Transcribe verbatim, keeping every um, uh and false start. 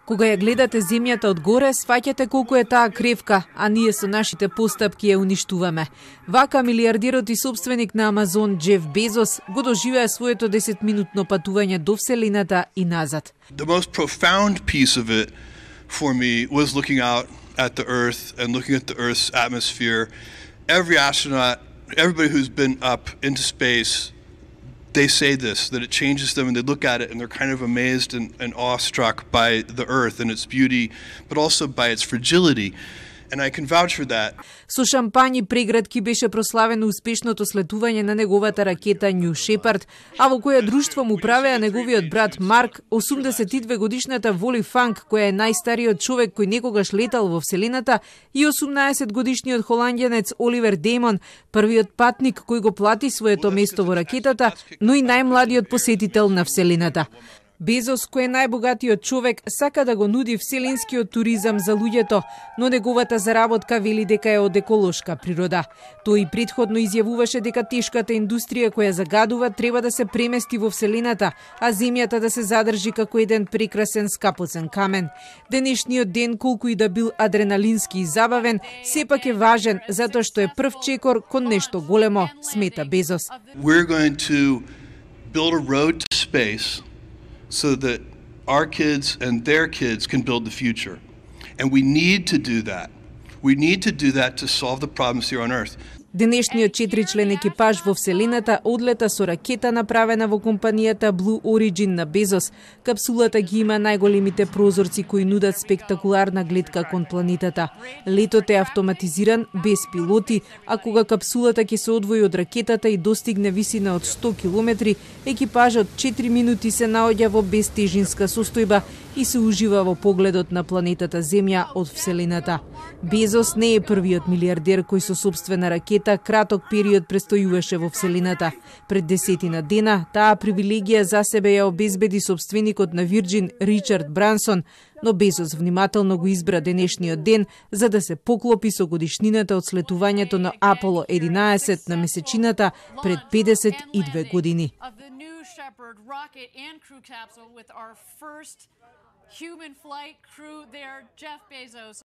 Кога ја гледате земјата од горе, сваќате колку е таа кревка, а ние со нашите постапки ја уништуваме. Вака милиардерот и собственик на Амазон Джеф Безос го доживеа своето десетминутно патување до Вселената и назад. The most profound piece of it for me was looking out at the Earth and looking at the Earth's atmosphere. Every astronaut, everybody who's been up into space, they say this, that it changes them, and they look at it and they're kind of amazed and, and awestruck by the Earth and its beauty, but also by its fragility. And I can vouch for that. Со шампањи преградки беше прославено успешното слетување на неговата ракета New Shepard, а во која друштво му правеа неговиот брат Марк, осумдесет и две годишната Воли Фанк, која е најстариот човек кој некогаш летал во Вселената, и осумнаесет годишниот холанѓанец Оливер Деймон, првиот патник кој го плати своето место во ракетата, но и најмладиот посетител на Вселената. Безос, кој е најбогатиот човек, сака да го нуди вселенскиот туризам за луѓето, но неговата заработка вели дека е од еколошка природа. Тој и предходно изјавуваше дека тешката индустрија која загадува треба да се премести во Вселената, а земјата да се задржи како еден прекрасен скапоцен камен. Денешниот ден, колку и да бил адреналински и забавен, сепак е важен затоа што е прв чекор кон нешто големо, смета Безос. We're going to build a road to space so that our kids and their kids can build the future. And we need to do that. We need to do that to solve the problems here on Earth. Денешниот четиричлен екипаж во Вселената одлета со ракета направена во компанијата Blue Origin на Безос. Капсулата ги има најголемите прозорци кои нудат спектакуларна гледка кон планетата. Летот е автоматизиран, без пилоти, а кога капсулата ќе се одвои од ракетата и достигне висина од сто километри, екипажот четири минути се наоѓа во безтежинска состојба и се ужива во погледот на планетата Земја од Вселената. Безос не е првиот милиардер кој со собствена ракета краток период престојуваше во Вселената. Пред десетина дена таа привилегија за себе ја обезбеди собственикот на Virgin Ричард Брансон, но Безос внимателно го избра денешниот ден за да се поклопи со годишнината од слетувањето на Аполо единаесет на месечината пред педесет и две години. Human flight crew there, Jeff Bezos.